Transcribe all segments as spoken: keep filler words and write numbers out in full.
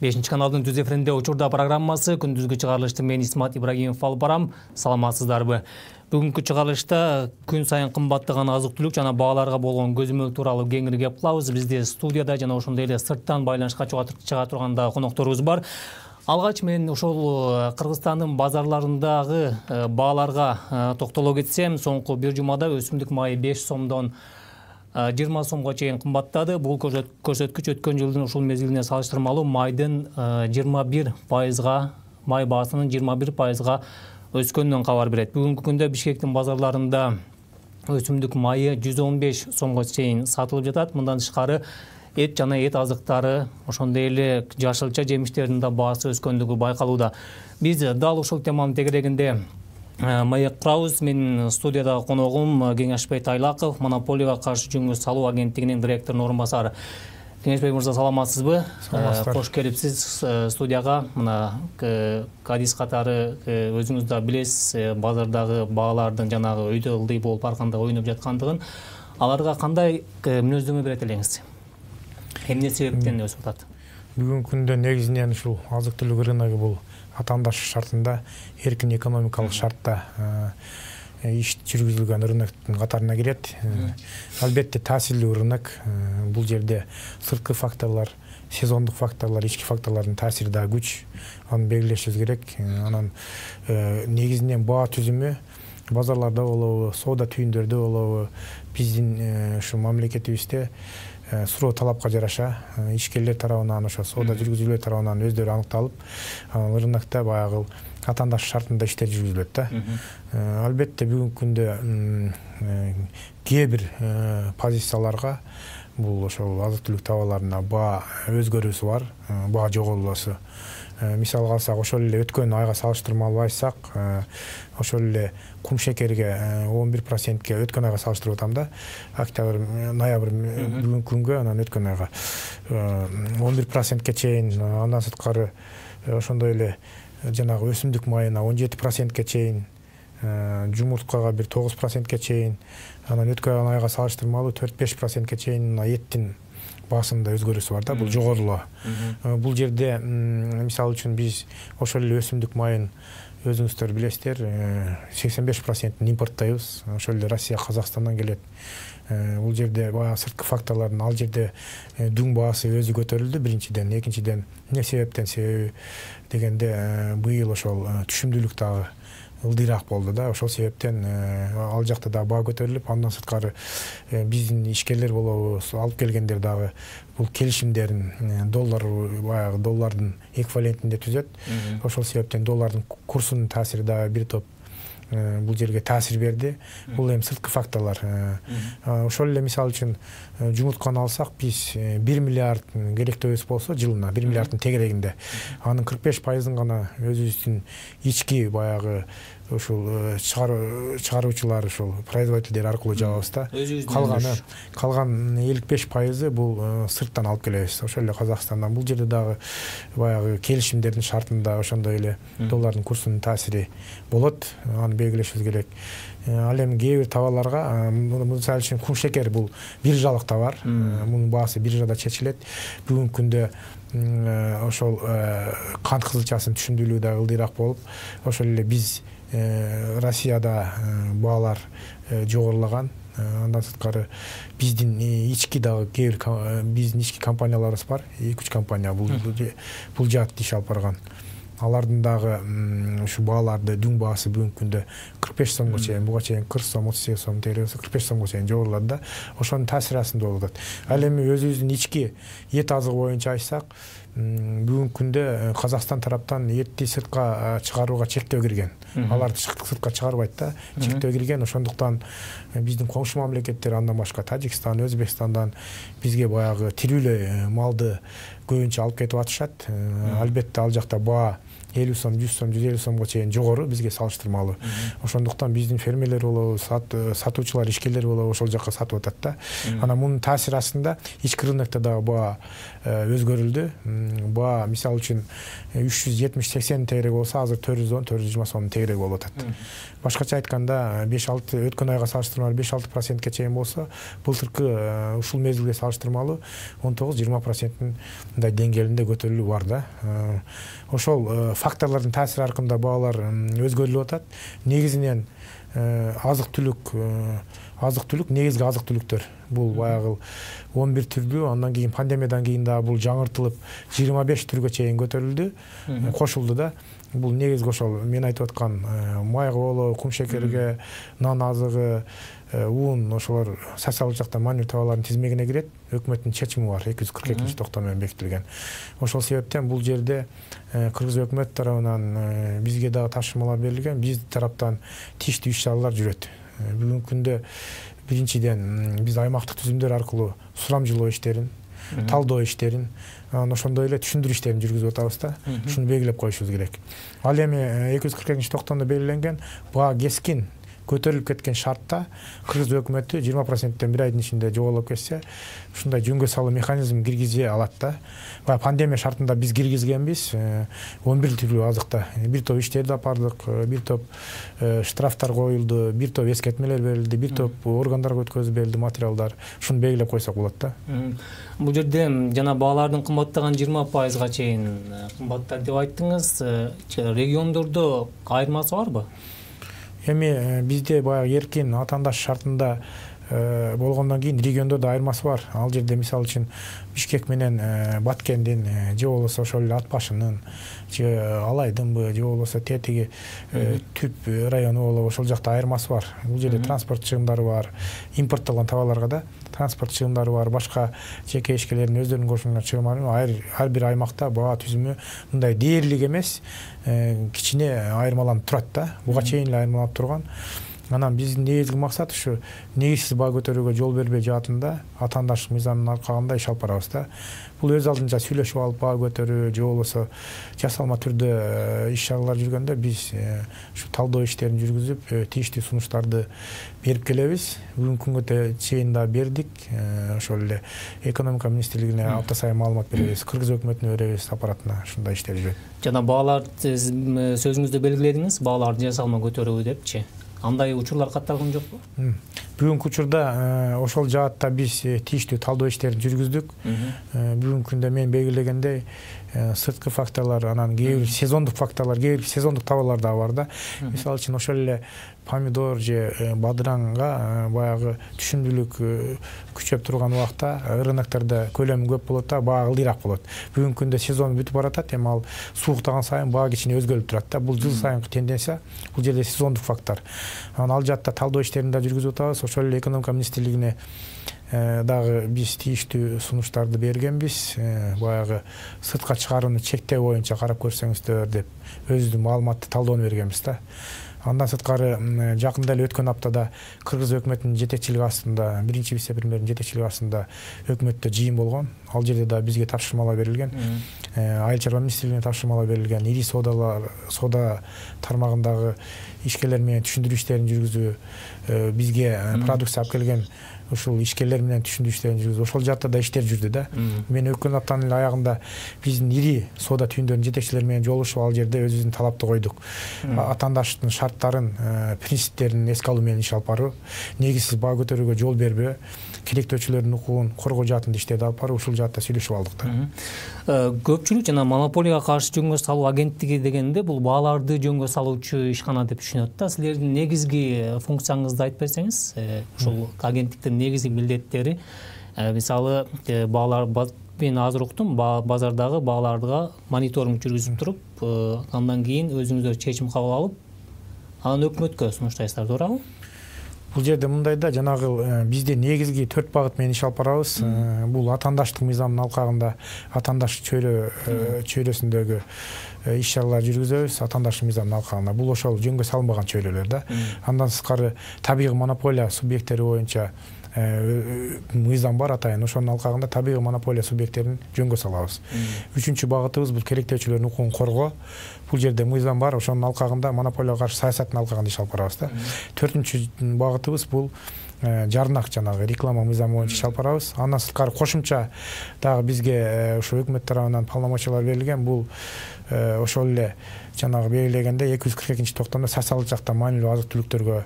бешинчи каналдын түз эфиринде учурда программасы күндүзгү чыгарылышты мен Исмат Ибрагимов алып барам. Саламатсыздарбы? Бүгүнкү чыгарылышта күн сайын кымбаттаган азык-түлүк жана бааларга болгон көзөмөл тууралуу кеңири кеп кылабыз. Бизде студияда жана ошондой эле сырттан байланышка чыга турган да конокторубуз бар. Алгач мен ошол Кыргызстандын базарларындагы бааларга токтоло кетсем, соңку бир жумада өсүмдүк майы беш сомдон жыйырма сомго чейин кымбаттады. Бул көрсөткүч өткөн жылдын ушул мезгилине салыштырмалуу майдын жыйырма бир пайызга, май баасынын жыйырма бир пайызга өскөнүнөн кабар берет. Бүгүнкү күндө Бишкектин базарларында өсүмдүк майы жүз он беш сомго чейин сатылып жатат. Мындан тышкары эт жана эт азыктары, ошондой эле жашылча жемиштердин да баасы өскөндүгү байкалууда. Биз дал ушул теманын тегерегинде маек курабыз. Менин студиядагы коногум Кеңешбай Тайлаков, Монополияга каршы жөнгө салуу агенттигинин директорунун орун басары. Кеңешбай мырза, саламатсызбы? Кош келипсиз студияга. Мына кадис катары өзүңүз да билесиз, базардагы баалардын жанагы өйдө ылдый болуп арканда ойноп жаткандыгын. Аларга кандай мүнөздөмө берет элеңиз? Эмне себептен өсүп атат? Бүгүнкү күндө негизинен ушул азык-түлүк рыногу бул атаандаш шартында, эркин экономикалык шартта иш жүргүзүлгөн рыноктун катарына кирет. Албетте таасирлүү рынок. Бул жерде сырткы факторлор, сезондук факторлор, ички факторлордун таасири да күч. Аны белгилешибиз керек. Анан негизинен баа түзүмү базарларда болобу, соода түйүндөрдө болобу, биздин ушу мамлекетибизде суроо талапка жараша ишкерлер тарабынан, ошо соода жүргүзүүлөр тарабынан өздөрү аныкталып, рынокто баягы атаандаш шартында иштер жүргүзүлөт да. Албетте бүгүнкү күндө кээ бир позицияларга бул ошол азык-түлүк товарларына баа өзгөрүүсү бар, баа жоголуусу. Мисалга алсак, ошол эле өткөн айга салыштырмалуу айтсак, ошол эле кум шекерге он бир процентке өткөн айга салыштырып атам да. Октябрь, ноябрь бүгүнкү күнгө, анан өткөн айга он бир процентке чейин, андан сырткары ошондой эле жанагы өсүмдүк майына он жети процентке чейин, жумурткага бир тогуз процентке чейин, анан өткөн айга салыштырмалуу төрт беш процентке чейин эттин баасында өзгөрүүсү бар да, бул жогорулоо. Бул жерде мисалы үчүн биз ошол эле өсүмдүк майын өзүңүздөр билесиздер, сексен беш процентин импорттойбуз. Ошол эле Россия, Казакстандан келет. Бул жерде баягы сырткы факторлордун, ал жерде дүң баасы өзү көтөрүлдү биринчиден, экинчиден эмне себептен? Себеби дегенде быйыл ошол түшүмдүүлүк дагы ылдыйраак болду да. Ошол себептен ал жакта да баа көтөрүлүп, андан сырткары биздин ишкерлер болобу, алып келгендер дагы бул келишимдерин доллар, баягы доллардын эквивалентинде түзөт. Ошол себептен доллардын курсунун таасири дагы бир топ бул жерге таасир берди. Бул эми сырткы факторлор. Ошол эле мисалы үчүн жумуртканы алсак, биз бир миллиард керектөөбүз болсо жылына, бир миллиарддын тегерегинде, анын кырк беш пайызын гана өзүбүздүн ички баягы ушул чыгаруучулар, ушул производителдер аркылуу жабабыз да. Калганы, калган элүү беш пайызы бул сырттан алып келебиз. Ошол эле Казакстандан. Бул жерде дагы баягы келишимдердин шартында ошондой эле доллардын курсунун таасири болот. Аны белгилешибиз керек. Ал эми кээ бир товарларга, мисалы үчүн кум шекер бул биржалык товар. Мунун баасы биржада чечилет. Бүгүнкү күндө ошол кант кызылчасынын түшүмдүүлүгү да ылдыйраак болуп, ошол эле биз Россияда баалар жогорулаган. Андан сырткары биздин ички дагы кээ бир биздин ички компанияларыбыз бар. эки үч компания бул бул жаат иш алып барган. Алардын дагы ушу бааларды дүң баасы бүгүнкү күндө кырк беш сомго чейин, буга чейин кырк сом, отуз сегиз сом тегеребиз, кырк беш сомго чейин жогорулат да. Ошонун таасири астында болуп атат. Ал эми өзүбүздүн ички эт азыгы боюнча айтсак, бүгүнкү күндө Казакстан тараптан этти сыртка чыгарууга чектөө кирген. Аларды сыртка чыгарбайт да, чектөө кирген. Ошондуктан биздин коңшу мамлекеттер, андан башка Тажикстан, Өзбекстандан бизге баягы тирүүлөй малды көбүнчө алып кетип атышат. Албетте ал жакта баа элүү сом, жүз сом, жүз элүү сомго чейин жогору бизге салыштырмалуу. Ошондуктан биздин фермерлер болобу, сатуучулар, ишкерлер болобу ошол жакка сатып атат да. Анан мунун таасири астында ички рынокто дагы баа өзгөрүлдү. Баа мисалы үчүн үч жүз жетимиш сексен тегерек болсо, азыр төрт жүз он, төрт жүз жыйырма сом тегерек болуп атат. Башкача айтканда беш алты өткөн айга салыштырмалуу беш алты процентке чейин болсо, былтыркы ушул мезгилге салыштырмалуу он тогуз жыйырма проценттин мындай деңгээлинде көтөрүлүү бар да. Ошол факторлордун таасири аркында баалар өзгөрүлүп атат. Негизинен азык-түлүк, азык-түлүк, негизги азык-түлүктөр бул баягы он бир түрдүү, андан кийин пандемиядан кийин дагы бул жаңыртылып жыйырма беш түргө чейин көтөрүлдү, кошулду да. Бул негизги ошол мен айтып аткан майга болобу, кум шекерге, нан азыгы, уун, ошолор социалдык жактан манюр товарлардын тизмегине кирет. Өкмөттүн чечими бар, эки жүз кырк экинчи токтом менен бекитилген. Ошол себептен бул жерде Кыргыз өкмөт тарабынан бизге дагы тапшырмалар берилген, биз тараптан тийиштүү иш-чаралар жүрөт. Бүгүнкү күндө биринчиден биз аймактык түзүмдөр аркылуу сурамжылоо иштерин, талдоо иштерин, ошондой эле түшүндүрүү иштерин жүргүзүп атабыз да. Ушуну белгилеп коюшубуз керек. Ал эми эки жүз кырк экинчи токтомдо белгиленген баа кескин көтөрүлүп кеткен шартта Кыргыз өкмөтү жыйырма проценттен бир айдын ичинде жоболоп кетсе, ушундай жөнгө салуу механизм киргизе алат да. Баягы пандемия шартында биз киргизгенбиз он бир түрдүү азыкта. Бир топ иштерди апардык, бир топ штрафтар коюлду, бир топ эскертмелер берилди, бир топ органдарга өткөзүп берилди материалдар. Ушуну белгилеп койсок болот да. Бул жерде жана баалардын кымбаттаган жыйырма пайызга чейин кымбаттар деп айттыңыз. Региондордо айырмасы барбы? Эми бизде баягы эркин атаандаш шартында болгондон кийин региондордо айырмасы бар. Ал жерде мисалы үчүн Бишкек менен Баткендин же болбосо ошол эле Ат башынын же Алайдынбы же болбосо тетиги Түп району болобу ошол жакта айырмасы бар. Бул жерде транспорт чыгымдары бар, импорттолгон товарларга да транспорт чыгымдары бар, башка жеке ишкерлердин өздөрүнүн кошулган чыгымдары. Ар бир аймакта баа түзүмү мындай дээрлик эмес, кичине айырмаланып турат да. Буга чейин эле айырмаланып турган. Анан биздин негизги максат ушу негизсиз баа көтөрүүгө жол бербей жаатында атаандаштык мыйзамдын аркагында иш алып барабыз да. Бул өз алдынча сүйлөшүп алып баа көтөрүү же болбосо жасалма түрдө иш-чаралар жүргөндө биз ушу талдоо иштерин жүргүзүп, тийиштүү сунуштарды берип келебиз. Бүгүнкү күнгө чейин да бердик. Ошол эле экономика министрлигине апта сайын маалымат беребиз, Кыргыз өкмөтүнө беребиз, аппаратына ушундай иштер жүрөт. Жана баалар сөзүңүздө белгиледиңиз, бааларды жасалма көтөрүү депчи. Андай учурлар катталган жокпу? Бүгүнкү учурда ошол жаатта биз тийиштүү талдоо иштерин жүргүздүк. Бүгүнкү күндө мен белгилегендей сырткы факторлор, анан кээ бир сезондук факторлор, кээ бир сезондук товарлар да бар да. Мисалы үчүн ошол эле помидор же бадыранга баягы түшүмдүүлүк күчөп турган убакта рыноктордо көлөмү көп болот да, баа ылдыйраак болот. Бүгүнкү күндө сезон бүтүп баратат, эми ал сууктаган сайын баа кичине өзгөрүп турат да. Бул жыл сайынкы тенденция, бул жерде сезондук фактор. Анан ал жакта талдоо иштерин да жүргүзүп атабыз. Ошол эле экономика министрлигине дагы биз тийиштүү сунуштарды бергенбиз. Баягы сыртка чыгарууну чектөө боюнча карап көрсөңүздөр деп өзүбүздүн маалыматты талдоону бергенбиз да. Андан сырткары жакында эле өткөн аптада Кыргыз өкмөтүнүн жетекчилиги астында, биринчи вице-премьердин жетекчилиги астында өкмөттө жыйын болгон. Ал жерде да бизге тапшырмалар берилген. Айыл чарба министрлигине тапшырмалар берилген. Ири соодалар, соода тармагындагы ишкерлер менен түшүндүрүү иштерин жүргүзүү, бизге продукция алып келген ушул ишкерлер менен түшүндүрүү иштерин жүргүзүү, ошол жакта да иштер жүрдү да. Мен өткөн аптанын эле аягында биздин ири соода түйүндөрүнүн жетекчилери менен жолугушуп, ал жерде өзүбүздүн талапты койдук. Атаандаштын шарттарын, принциптерин эске алуу менен иш алып баруу, негизсиз баа көтөрүүгө жол бербөө, керектөөчүлөрдүн укугун коргоо жаатында иштерди алып баруу, ушул жаатта сүйлөшүп алдык да. Көпчүлүк жана монополияга каршы жөнгө салуу агенттиги дегенде бул бааларды жөнгө салуучу ишкана деп түшүнөт да. Силердин негизги функцияңызды айтып берсеңиз, ушул агенттиктин негизги милдеттери, мисалы баалар, мен азыр уктум, базардагы бааларга мониторинг жүргүзүп туруп, андан кийин өзүңүздөр чечим кабыл алып, анан өкмөткө сунуштайсыздар, туурабы? Бул жерде мындай да, жанагы бизде негизги төрт багыт менен иш алып барабыз. Бул атаандаштык мыйзамынын алкагында атаандаштык чөйрө чөйрөсүндөгү иш-чаралар жүргүзөбүз, атаандаштык мыйзамынын алкагында. Бул ошол жөнгө салынбаган чөйрөлөр да. Андан сырткары табигый монополия субъекттери боюнча мыйзам бар атайын. Ошонун алкагында табигый монополия субъекттерин жөнгө салабыз. Үчүнчү багытыбыз бул керектөөчүлөрдүн укугун коргоо. Бул жерде мыйзам бар, ошонун алкагында монополияга каршы саясаттын алкагында иш алып барабыз да. Төртүнчү багытыбыз бул жарнак жанагы реклама мыйзамы боюнча иш алып барабыз. Андан сырткары кошумча дагы бизге ошо өкмөт тарабынан полномочиялар берилген. Бул ошол эле жанагы белгилегенде эки жүз кырк экинчи токтомдо социалдык жактан маанилүү азык түлүктөргө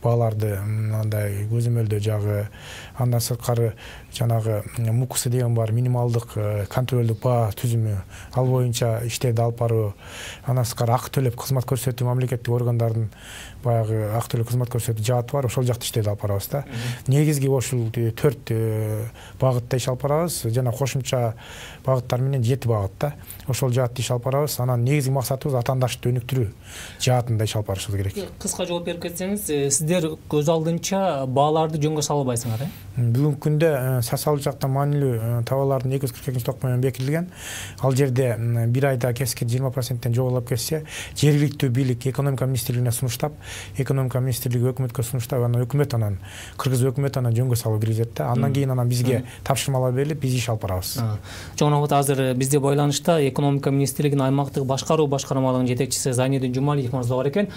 бааларды мындай көзөмөлдөө жагы, андан сырткары жанагы МУКС деген бар, минималдык контролдук баа түзүмү, ал боюнча иштерди алып баруу, андан сырткары акы төлөп кызмат көрсөтүү мамлекеттик органдардын баягы акы төлөп кызмат көрсөтүү жааты бар, ошол жакта иштерди алып барабыз да. Негизги ушул төрт багытта иш алып барабыз, жана кошумча багыттар менен жети багыт да. Ошол жаатта иш алып барабыз. Анан негизги максатыбыз атаандашты өнүктүрүү жаатында иш алып барышыбыз керек. Кыска жооп берип кетсеңиз, сиздер көз алдынча бааларды жөнгө салбайсыңар, э? Бүгүнкү күндө социалдык жактан маанилүү товарлардын эки жүз кырк экинчи токто менен бекитилген. Ал жерде бир айда кескин жыйырма проценттен жогорулап кетсе, жергиликтүү бийлик экономика министрлигине сунуштап, экономика министрлиги өкмөткө сунуштап, анан өкмөт анан кыргыз өкмөтү анан жөнгө салып киргизет да. Андан кийин анан бизге тапшырмалар берилип, биз иш алып барабыз. Жогонокот азыр бизде байланышта экономика министрлигинин аймактык башкаруу башкармалыгынын жетекчиси Зайнидин Жумалиев мырза бар экен.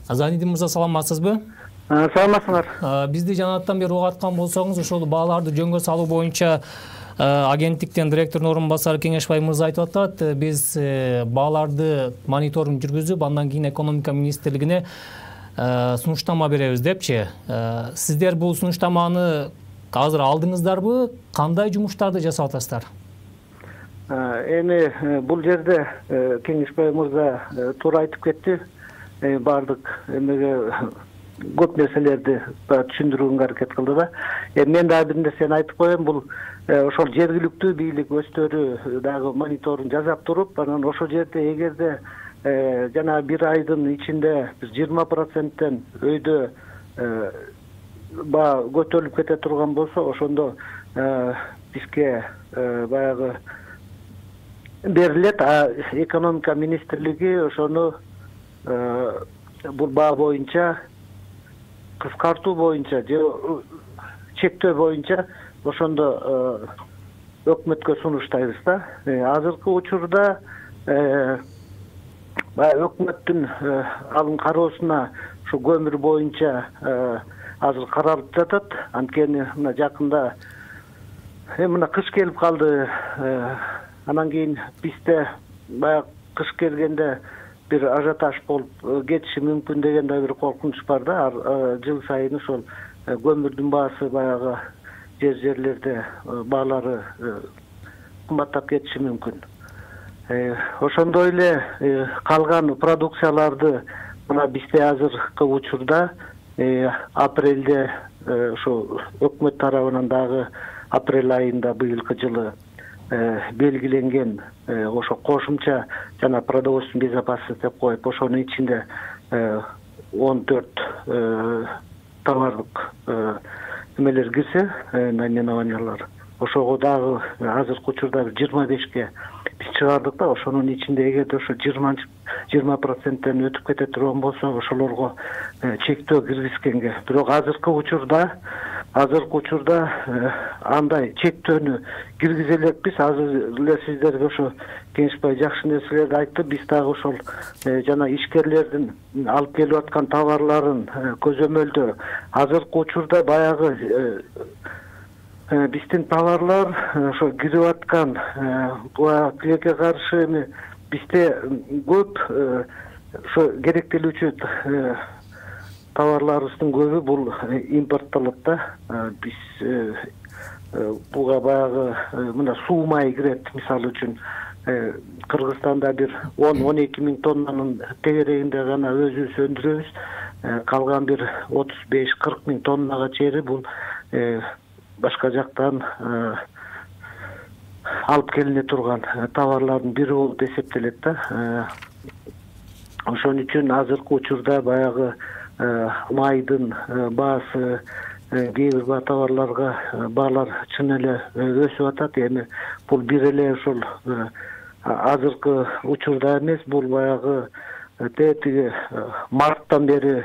Зайнидин мырза, саламатсызбы? Саламатсыңар. Бизди жанаттан бери угаткан болсоңуз, ошол бааларды жөнгө салуу боюнча агенттиктен директордун орун басары Кеңешбай мырза айтып атат, биз бааларды мониторинг жүргүзүп, андан кийин экономика министрлигине сунуштама беребиз депчи. Сиздер бул сунуштаманы азыр алдыңыздарбы? Кандай жумуштарды жасап атасыздар? Эми бул жерде Кеңешбай мырза туура айтып кетти. Бардык эмеге көп нерселерди түшүндүрүүгө аракет кылды да. Мен дагы бир нерсени айтып коеюн, бул ошол жергиликтүү бийлик өздөрү дагы мониторинг жасап туруп, анан ошол жерде эгерде жана бир айдын ичинде биз жыйырма проценттен өйдө баа көтөрүлүп кете турган болсо, ошондо бизге баягы берилет. Экономика министрлиги ошону бул баа боюнча кыскартуу боюнча же чектөө боюнча ошондо өкмөткө сунуштайбыз да. Азыркы учурда баягы өкмөттүн алым кароосуна ушу көмүр боюнча азыр каралып жатат. Анткени мына жакында мына кыш келип калды. Анан кийин бизде баягы кыш келгенде бир ажиотаж болуп кетиши мүмкүн деген да бир коркунуч бар да. Жыл сайын ошол көмүрдүн баасы баягы жер жерлерде баалары кымбаттап кетиши мүмкүн. Ошондой эле калган продукцияларды мына бизде азыркы учурда апрелде ошо өкмөт тарабынан дагы апрель айында быйылкы жылы белгиленген ошо кошумча жана продовольственный безопасность деп коюп, ошонун ичинде он төрт товарлык эмелер кирсе, наименованиялар. Ошого дагы азыркы учурда жыйырма бешке биз чыгардык да. Ошонун ичинде эгерде ошо жыйырма проценттен өтүп кете турган болсо, ошолорго чектөө киргизгенге. Бирок азыркы учурда азыркы учурда андай чектөөнү киргизе элекпиз. Азыр эле сиздерге ошо Кеңешбай жакшы нерселерди айтты. Биз дагы ошол жана ишкерлердин алып келип аткан товарларын көзөмөлдөө. Азыркы учурда баягы биздин товарлар ошо кирип аткан тилекке каршы эми бизде көп ошо керектелүүчү товарларыбыздын көбү бул импорттолот да. Биз буга баягы мына суу май кирет, мисалы үчүн Кыргызстанда бир он он эки миң тоннанын тегерегинде гана өзүбүз өндүрөбүз. Калган бир отуз беш кырк миң тоннага чейин бул башка жактан алып келине турган товарлардын бири болуп эсептелет да. Ошон үчүн азыркы учурда баягы майдын баасы, кээ бир товарларга баалар чын эле өсүп атат. Эми бул бир эле ошол азыркы учурда эмес, бул баягы тетиги марттан бери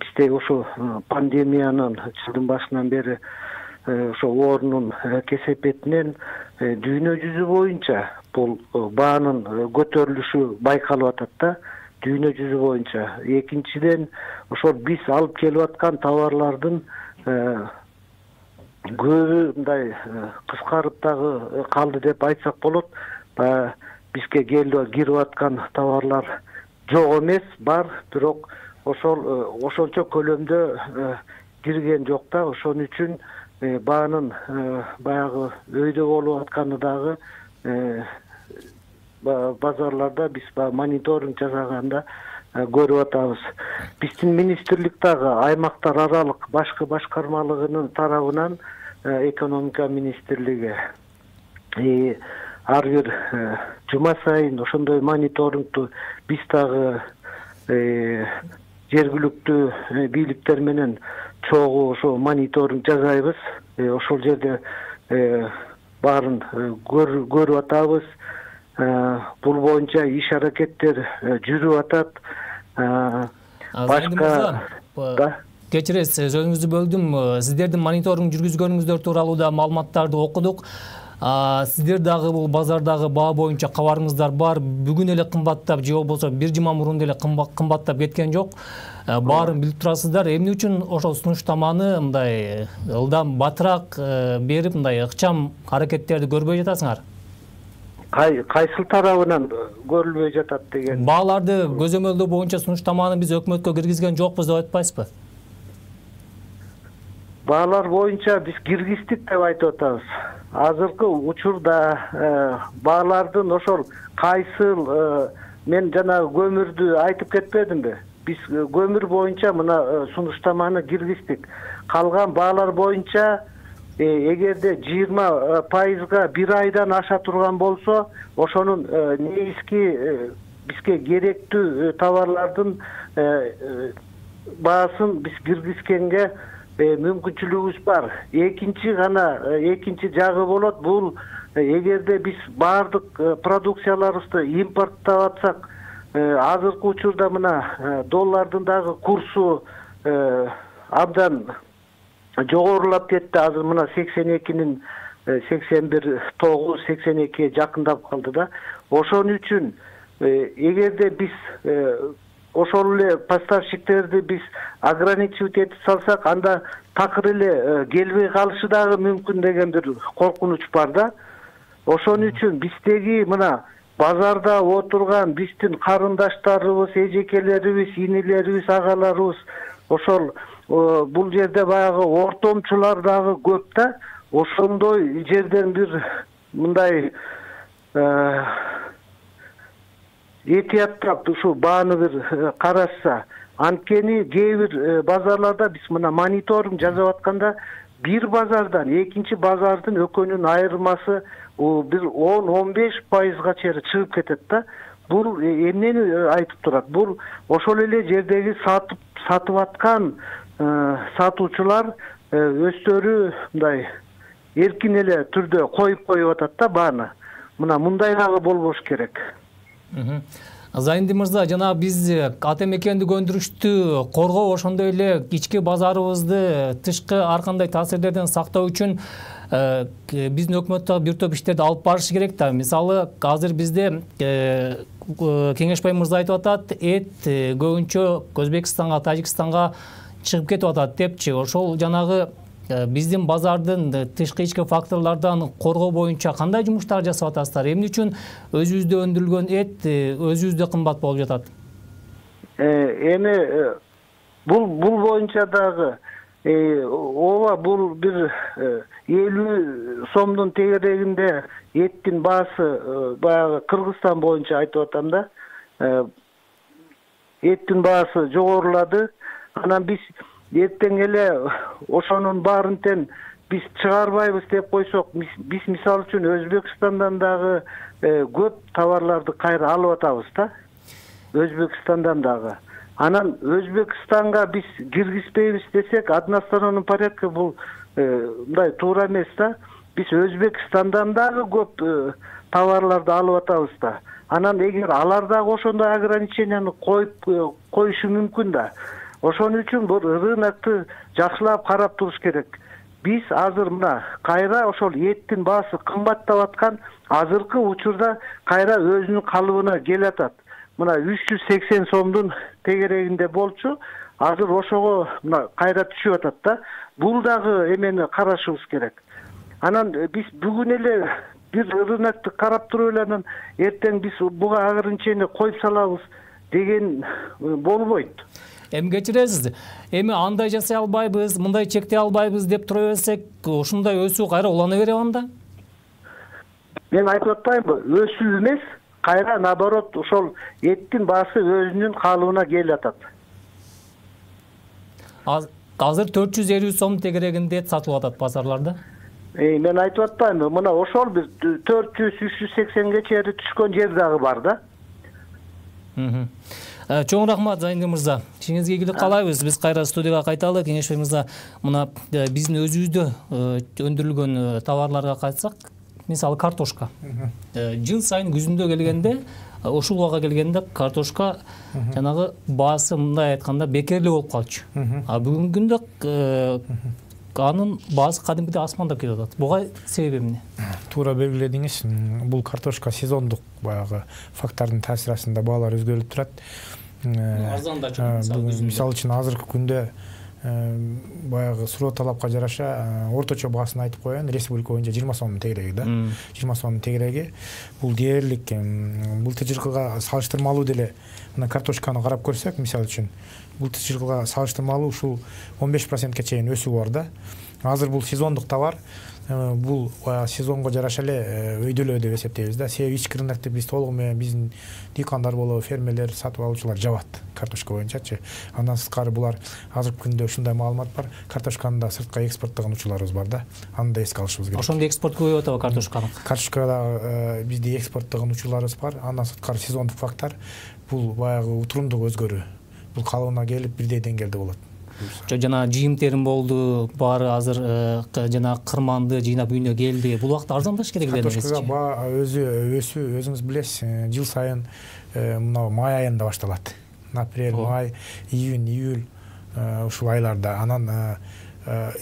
бизде ошо пандемиянын жылдын башынан бери ошо оорунун кесепетинен дүйнө жүзү боюнча бул баанын көтөрүлүшү байкалып атат да, дүйнө жүзү боюнча. Экинчиден ошол биз алып келип аткан товарлардын көбү мындай кыскарып дагы калды деп айтсак болот. Баягы бизге келип кирип аткан товарлар жок эмес, бар, бирок ошол ошончо көлөмдө кирген жок да. Ошон үчүн баанын баягы өйдө болуп атканы дагы базарларда биз мониторинг жасаганда көрүп атабыз. Биздин министрлик дагы аймактар аралык башкы башкармалыгынын тарабынан, экономика министрлиги ар бир жума сайын ошондой мониторингду биз дагы жергиликтүү бийликтер менен чогуу ошо мониторинг жасайбыз. Ошол жерде баарын көрүп атабыз. Бул боюнча иш аракеттер жүрүп атат. Башка кечиресиз, сөзүңүздү бөлдүм. Сиздердин мониторинг жүргүзгөнүңүздөр тууралуу да маалыматтарды окудук. Сиздер дагы бул базардагы баа боюнча кабарыңыздар бар. Бүгүн эле кымбаттап же болбосо бир жума мурун эле кымбаттап кеткен жок. Баарын билип турасыздар. Эмне үчүн ошол сунуштаманы мындай ылдам батыраак берип, мындай ыкчам аракеттерди көрбөй жатасыңар? Кайсыл тарабынан көрүлбөй жатат деген? Бааларды көзөмөлдөө боюнча сунуштаманы биз өкмөткө киргизген жокпуз деп айтпайсызбы? Баалар боюнча биз киргиздик деп айтып атабыз. Азыркы учурда баалардын ошол кайсыл, мен жанагы көмүрдү айтып кетпедимби? Биз көмүр боюнча мына сунуштаманы киргиздик. Калган баалар боюнча эгерде жыйырма пайызга бир айдан аша турган болсо, ошонун негизги бизге керектүү товарлардын баасын биз киргизгенге мүмкүнчүлүгүбүз бар. Экинчи гана экинчи жагы болот. Бул эгерде биз баардык продукцияларыбызды импорттап атсак, азыркы учурда мына доллардын дагы курсу абдан жогорулап кетти. Азыр мына сексен экинин сексен бир тогуз сексен экиге жакындап калды да. Ошон үчүн эгерде биз ошол эле поставщиктерди биз ограничивать этип салсак, анда такыр эле келбей калышы дагы мүмкүн деген бир коркунуч бар да. Ошон үчүн биздеги мына базарда отурган биздин карындаштарыбыз, эжекелерибиз, инилерибиз, агаларыбыз ошол бул жерде баягы ортомчулар дагы көп да. Ошондой жерден бир мындай этияттап ушу бааны бир карашса, анткени кээ бир базарларда биз мына мониторинг жасап атканда бир базардан экинчи базардын экөөнүн айырмасы бир он он беш пайызга чейин чыгып кетет да. Бул эмнени айтып турат? Бул ошол эле жердеги сатып сатып аткан сатуучулар өздөрү мындай эркин эле түрдө коюп коюп атат да бааны. Мына мындай дагы болбош керек. Зайынды мырза, жана биз ата мекендик өндүрүштү коргоо, ошондой эле ички базарыбызды тышкы ар кандай таасирлерден сактоо үчүн биздин өкмөт дагы бир топ иштерди алып барышы керек да. Мисалы, азыр бизде Кеңешбай мырза айтып атат, эт көбүнчө Өзбекстанга, Тажикстанга чыгып кетип атат депчи. Ошол жанагы биздин базардын тышкы ички факторлордон коргоо боюнча кандай жумуштар жасап атасыздар? Эмне үчүн өзүбүздө өндүрүлгөн эт өзүбүздө кымбат болуп жатат? Эми бул бул боюнча дагы ооба бул бир элүү сомдун тегерегинде эттин баасы баягы Кыргызстан боюнча айтып атам да. Эттин баасы жогорулады. Анан биз эртең эле ошонун баарын тең биз чыгарбайбыз деп койсок, биз мисалы үчүн Өзбекстандан дагы көп товарларды кайра алып атабыз да. Өзбекстандан дагы. Анан Өзбекстанга биз киргизбейбиз десек, односторонний порядка бул мындай туура эмес да. Биз Өзбекстандан дагы көп товарларды алып атабыз да. Анан эгер алар дагы ошондой ограниченияны коюп коюшу мүмкүн да. Ошон үчүн бул рынокты жакшылап карап туруш керек. Биз азыр мына кайра ошол эттин баасы кымбаттап аткан азыркы учурда кайра өзүнүн калыбына келатат. Мына үч жүз сексен сомдун тегерегинде болчу, азыр ошого мына кайра түшүп атат да. Бул дагы эмени карашыбыз керек. Анан биз бүгүн эле бир рынокты карап туруп эле анан эртең биз буга агырынчени коюп салабыз деген болбойт. Эми кечиресиз, эми андай жасай албайбыз, мындай чектей албайбыз деп тура берсек, ушундай өсүү кайра улана береби анда? Мен айтып атпаймынбы, өсүү эмес, кайра наоборот ошол эттин баасы өзүнүн калыбына келип атат. Азыр төрт жүз элүү сом тегерегинде эт сатылып атат базарларда. Эй, мен айтып атпаймынбы, мына ошол бир төрт жүз үч жүз сексенге чейин түшкөн жер дагы бар да. Чоң рахмат Зайнур мырза. Ишиңизге ийгилик каалайбыз. Биз кайра студияга кайталы. Кеңешбек мырза, мына биздин өзүбүздө өндүрүлгөн товарларга кайтсак, мисалы картошка. Жыл сайын күзүндө келгенде, ушул убага келгенде картошка жанагы баасы мындай айтканда бекерлүү болуп калчу. А бүгүнкү күндө анын баасы кадимкидей асмандап кетип атат. Буга себеби эмне? Туура белгиледиңиз. Бул картошка сезондук баягы фактордун таасири астында баалар өзгөрүп турат. Мисалы үчүн азыркы күндө баягы суроо талапка жараша орточо баасын айтып коеюн. Республика боюнча жыйырма сомдун тегереги да. жыйырма сомдун тегереги. Бул дээрлик былтыр жылкыга салыштырмалуу деле мына картошканы карап көрсөк, мисалы үчүн былтыр жылкыга салыштырмалуу ушул он беш процентке чейин өсүү бар да. Азыр бул сезондук товар. Бул сезонго жараша эле өйдөлөө деп эсептейбиз да. Себеби ички рынокто биз толугу менен биздин дыйкандар болобу, фермерлер, сатып алуучулар жабат картошка боюнчачы. Андан сырткары булар азыркы күндө ушундай маалымат бар. Картошканы да сыртка экспорттогон учурларыбыз бар да. Аны да эске алышыбыз керек. Ошондо экспорт көбөйүп атабы картошканы? Картошкада бизде экспорттогон учурларыбыз бар. Андан сырткары сезондук фактор бул баягы утурундук өзгөрүү. Бул калыбына келип бирдей деңгээлде болот. Жана жыйым терим болду, баары азыр жана кырманды жыйнап үйүнө келди. Бул убакта арзандаш керек эле. Картошкага баа өзү өсүү өзүңүз билесиз, жыл сайын мына май айында башталат. Апрель, май, июнь, июль ушул айларда. Анан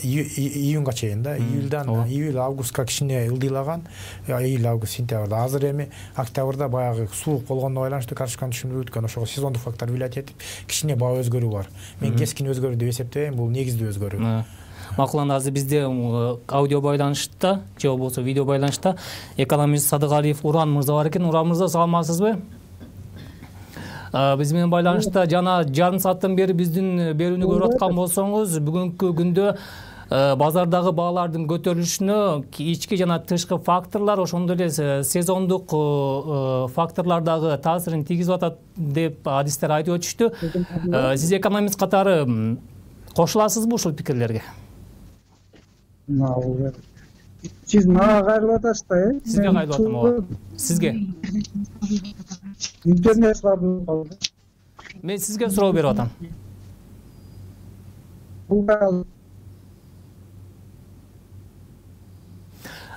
июнга чейин да, июльдан июль, августка кичине ылдыйлаган, июль, август, сентябрда. Азыр эми октябрда баягы суук болгондо байланыштуу картошканын түшүмдүү өткөн, ошого сезондук фактор влиять этип, кичине баа өзгөрүү бар. Мен кескин өзгөрүү деп эсептебейм, бул негиздүү өзгөрүү. Макул, анда азыр бизде аудио байланышта же болбосо видео байланышта экономист Садыгалиев Уран мырза бар экен. Уран мырза, саламатсызбы? Биз менен байланышта жана жарым сааттан бери биздин берүүнү көрүп аткан болсоңуз, бүгүнкү күндө базардагы баалардын көтөрүлүшүнө ички жана тышкы факторлор, ошондой эле сезондук факторлор дагы таасирин тийгизип атат деп адистер айтып өтүштү. Сиз экономист катары кошуласызбы ушул пикирлерге? Сиз мага кайрылып атасыз да, э? Сизге кайрылып атам ооба. Сизге. Интернет кабыл калды. Мен сизге суроо берип атам.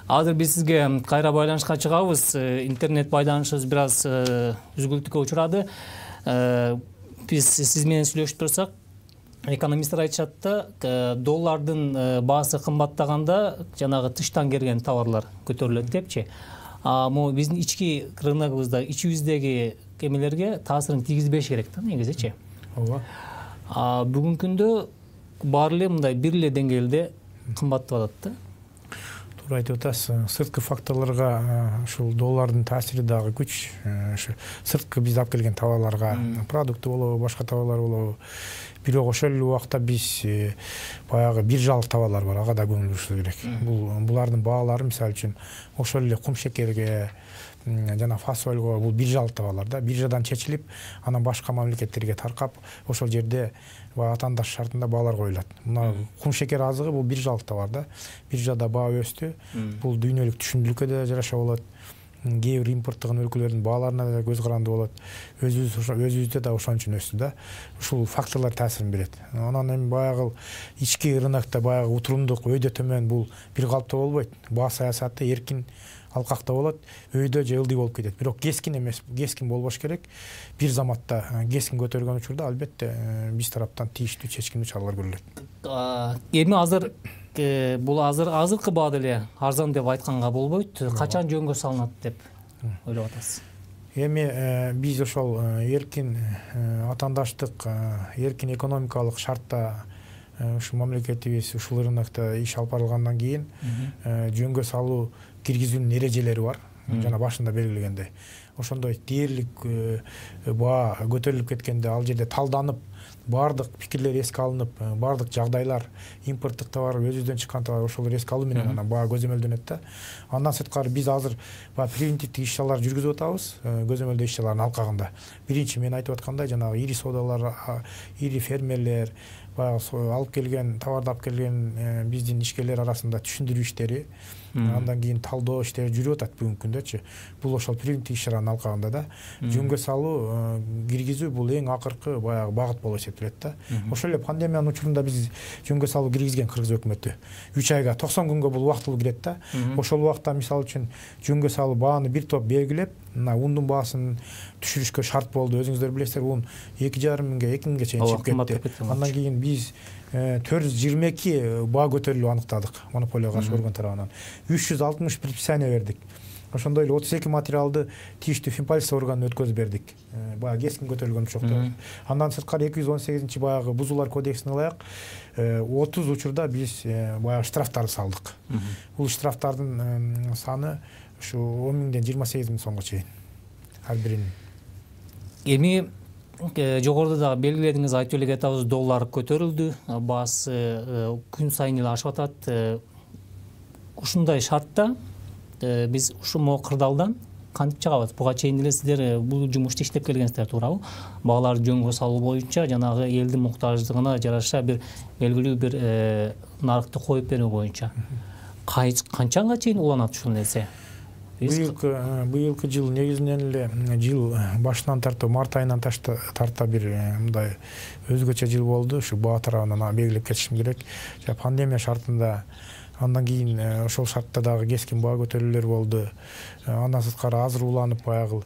Азыр биз сизге кайра байланышка чыгабыз. Интернет байланышыбыз бир аз үзгүлтүккө учурады. Биз сиз менен сүйлөшүп турсак, экономисттер айтышат да, доллардын баасы кымбаттаганда жанагы тыштан келген товарлар көтөрүлөт депчи. А могу биздин ички рыногубузда, ичибиздеги эмелерге таасирин тийгизбеш керек да негизичи. Ооба. А бүгүнкү күндө баары эле мындай бир эле деңгээлде кымбаттап атат да. Туура айтып атасыз. Сырткы факторлорго ушул доллардын таасири дагы күч. Ушу сырткы биз алып келген товарларга, продукты болобу, башка товарлар болобу. Бирок ошол эле убакта биз баягы биржалык товарлар бар, ага да көңүл бурушубуз керек. Бул булардын баалары, мисалы үчүн, ошол эле кум шекерге жана фасольго бул биржалык товарлар да, биржадан чечилип, анан башка мамлекеттерге таркап, ошол жерде атандаш шартында баалар коюлат. Мына кум шекер азыгы бул биржалык товар да. Биржада баа өстү. Бул дүйнөлүк түшүмдүүлүккө да жараша болот. Кээ бир импорттогон өлкөлөрдүн бааларына да көз каранды болот. Өзүбүз өзүбүздө да ошон үчүн өстү да. Ушул факторлор таасирин берет. Анан эми баягы ички рынокто баягы утурундук өйдө төмөн бул бир калыптуу болбойт. Баа саясаты эркин алкакта болот, өйдө же ылдый болуп кетет. Бирок кескин эмес, кескин болбош керек. Бир заматта кескин көтөргөн учурда албетте биз тараптан тийиштүү чечкиндүү чаралар көрүлөт. Эми азыр бул азыр азыркы баада эле арзан деп айтканга болбойт. Качан жөнгө салынат деп ойлоп атасыз? Эми биз ошол эркин атаандаштык, эркин экономикалык шартта ушу мамлекетибиз ушул рынокто иш алып барылгандан кийин жөнгө салуу киргизүүнүн эрежелери бар. Жана башында белгилегендей. Ошондой дээрлик баа көтөрүлүп кеткенде ал жерде талданып, бардык пикирлер эске алынып, бардык жагдайлар, импорттук товар, өзүбүздөн чыккан товар ошол эске алуу менен анан баа көзөмөлдөнөт да. Андан сырткары биз азыр баягы превентивдик иш-чаралар жүргүзүп атабыз, көзөмөлдөө иш-чаралардын алкагында. Биринчи мен айтып аткандай, жанагы ири соодалар, ири фермерлер, баягы алып келген, товарды алып келген биздин ишкерлер арасында түшүндүрүү иштери, андан кийин талдоо иштери жүрүп атат бүгүнкү күндөчү. Бул ошол превентивдик иш-чаранын алкагында да. Жөнгө салуу, киргизүү бул эң акыркы баягы багыт болуп эсептелет да. Ошол эле пандемиянын учурунда биз жөнгө салуу киргизген Кыргыз өкмөтү. үч айга, токсон күнгө бул убактылуу кирет да. Ошол убакта мисалы үчүн жөнгө салуу бааны бир топ белгилеп, мына ундун баасын түшүрүшкө шарт болду. Өзүңүздөр билесиздер, ун эки жарым миңге, эки миңге чейин чыгып кетти. Андан кийин биз төрт жүз жыйырма эки баа көтөрүлүп аныктадык монополияга каршы орган тарабынан. үч жүз алтымыш предписание бердик. Ошондой эле отуз эки материалды тийиштүү финполиция органына өткөзүп бердик. Баягы кескин көтөрүлгөн учурда. Андан сырткары эки жүз он сегизинчи баягы бузуулар кодексине ылайык отуз учурда биз баягы штрафтарды салдык. Бул штрафтардын саны ушу он миңден жыйырма сегиз миң сомго чейин ар биринин. Эми жогоруда дагы белгиледиңиз, айтып эле кетабыз, доллар көтөрүлдү, баасы күн сайын эле ашып атат. Ушундай шартта биз ушул кырдаалдан кантип чыгабыз? Буга чейин эле сиздер бул жумушту иштеп келгенсиздер, туурабы? Баалар жөнгө салуу боюнча жанагы элдин муктаждыгына жараша бир белгилүү бир нарыкты коюп берүү боюнча. Канчанга чейин уланат ушул нерсе? Быйылкы быйылкы жыл негизинен эле жыл башынан тарта, март айынан тарта бир мындай өзгөчө жыл болду. Ушу баа тарабынан белгилеп кетишим керек. Пандемия шартында, андан кийин ошол шартта дагы кескин баа көтөрүүлөр болду. Андан сырткары азыр уланып баягы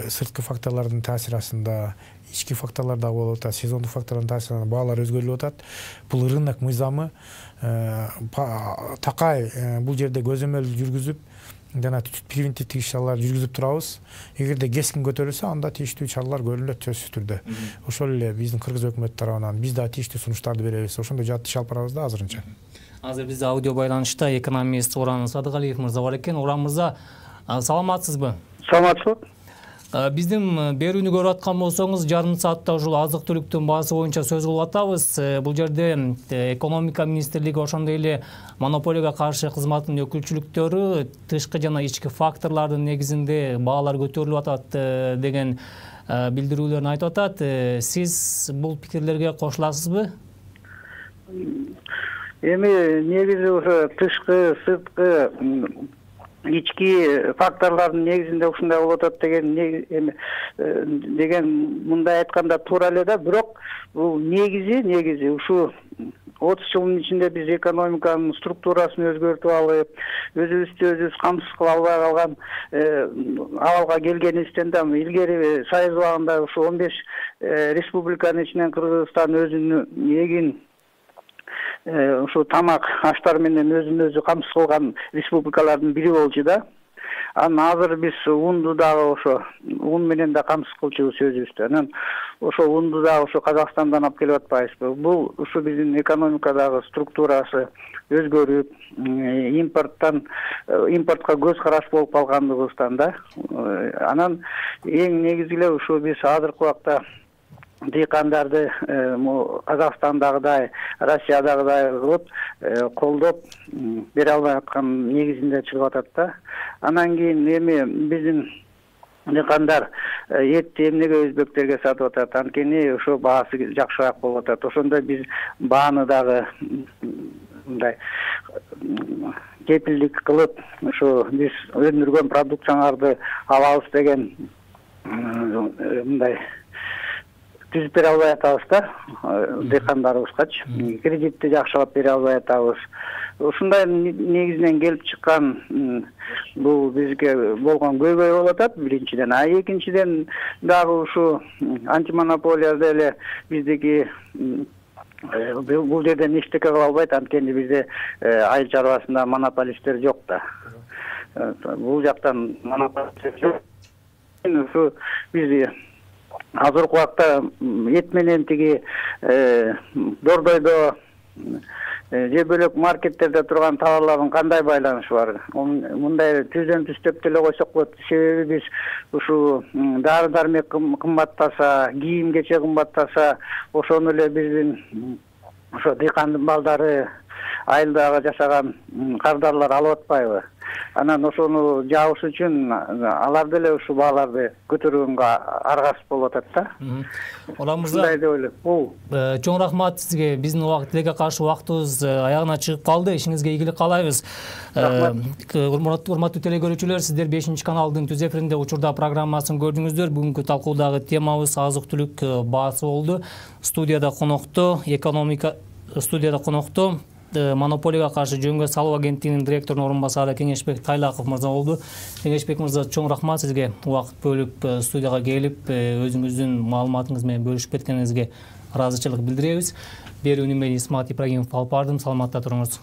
сырткы факторлордун таасири астында ички факторлор дагы болуп атат, сезондук факторлордун таасиринен баалар өзгөрүлүп атат. Бул рынок мыйзамы такай бул жерде көзөмөл жүргүзүп, жана превентивдик иш-чаралар жүргүзүп турабыз. Эгерде кескин көтөрүлсө, анда тийиштүү чаралар көрүлөт сөзсүз түрдө. Ошол эле биздин Кыргыз өкмөтү тарабынан биз да тийиштүү сунуштарды беребиз. Ошондой жат иш алып барабыз да азырынча. Азыр бизде аудио байланышта экономист Оран Садыгалиев мырза бар экен. Оран мырза, саламатсызбы? Саламатсызбы. Биздин берүүнү көрүп аткан болсоңуз, жарым саатта ушул азык-түлүктүн баасы боюнча сөз кылып атабыз. Бул жерде экономика министрлиги, ошондой эле монополияга каршы кызматтын өкүлчүлүктөрү тышкы жана ички факторлордун негизинде баалар көтөрүлүп атат деген билдирүүлөрүн айтып атат. Сиз бул пикирлерге кошуласызбы? Эми негизи ошо тышкы, сырткы, ички факторлордун негизинде ушундай болуп атат деген эми деген мындай айтканда туура эле да, бирок бул негизи негизи ушу отуз жылдын ичинде биз экономиканын структурасын өзгөртүп алып, өзүбүздү өзүбүз камсыз кыла албай калган абалга келгенибизден да илгери Союз убагында ушу он беш республиканын ичинен Кыргызстан өзүнүн эгин ушу тамак аштар менен өзүн өзү камсыз кылган республикалардын бири болчу да. Анан азыр биз унду дагы ошо ун менен да камсыз кылчубуз өзүбүздү. Анан ошо унду дагы ошо Казакстандан алып келип атпайбызбы? Бул ушу биздин экономикадагы структурасы өзгөрүп, импорттан импортко көз караш болуп калгандыгыбыздан да. Анан эң негизи эле ушу биз азыркы убакта дыйкандарды Казакстандагыдай, Россиядагыдай кылып колдоп бере албай аткан негизинде чыгып атат да. Анан кийин эми биздин дыйкандар этти эмнеге өзбектерге сатып атат, анткени ошо баасы жакшыраак болуп атат. Ошондо биз бааны дагы мындай кепилдик кылып, ошо биз өндүргөн продукцияларды алабыз деген мындай түзүп бере албай атабыз да дыйкандарыбызгачы. Кредитти жакшылап бере албай атабыз. Ушундай негизинен келип чыккан бул бизге болгон көйгөй болуп атат биринчиден. А экинчиден дагы ушу антимонополия деле биздики бул жерден эчтеке кыла албайт, анткени бизде айыл чарбасында монополисттер жок да. Бул жактан монополисттер жок. Ушу биз азыркы убакта эт менен тиги Дордойдо же бөлөк маркеттерде турган товарлардын кандай байланышы бар? Мындай түздөн түстөп деле койсок болот. Себеби биз ушу дары дармек кымбаттаса, кийим кече кымбаттаса, ошону эле биздин ошо дыйкандын балдары айылдагы жашаган кардарлар алып атпайбы? Анан ошону жабыш үчүн алар деле ушул бааларды көтөргөнгө аргасыз болуп атат да. Улан мырза, мындай деп ойлойм. Бул чоң рахмат сизге. Биздин убакыт тилекке каршы убактыбыз аягына чыгып калды. Ишиңизге ийгилик каалайбыз. Урматтуу телекөрүүчүлөр, сиздер бешинчи каналдын түз эфиринде учурда программасын көрдүңүздөр. Бүгүнкү талкуудагы темабыз азык-түлүк баасы болду. Студияда конокто экономика студияда конокто монополияга каршы жөнгө салуу агенттигинин директорунун орун басары Кеңешбек Тайлаков мырза болду. Кеңешбек мырза, чоң рахмат сизге убакыт бөлүп студияга келип өзүңүздүн маалыматыңыз менен бөлүшүп кеткениңизге ыраазычылык билдиребиз. Берүүнү мен Исмат Ибрагимов алып бардым. Саламатта туруңуз.